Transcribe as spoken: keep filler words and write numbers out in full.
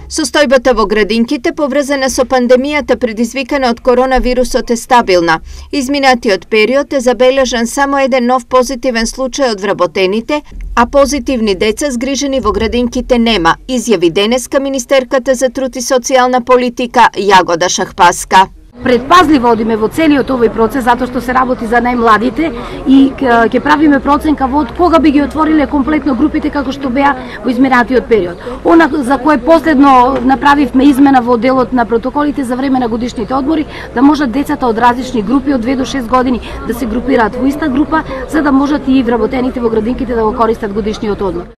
Состојбата во градинките поврзана со пандемијата предизвикана од коронавирусот е стабилна. Изминатиот период е забележан само еден нов позитивен случај од вработените, а позитивни деца згрижени во градинките нема, изјави денеска министерката за труд и социјална политика Јагода Шахпаска. Предпазливо одиме во целиот овој процес затоа што се работи за најмладите и ќе правиме проценка во кога би ги отвориле комплетно групите како што беа во изминатиот период. Она за кое последно направивме измена во делот на протоколите за време на годишните одмори, да можат децата од различни групи од две до шест години да се групираат во иста група, за да можат и вработените во градинките да го користат годишниот одмор.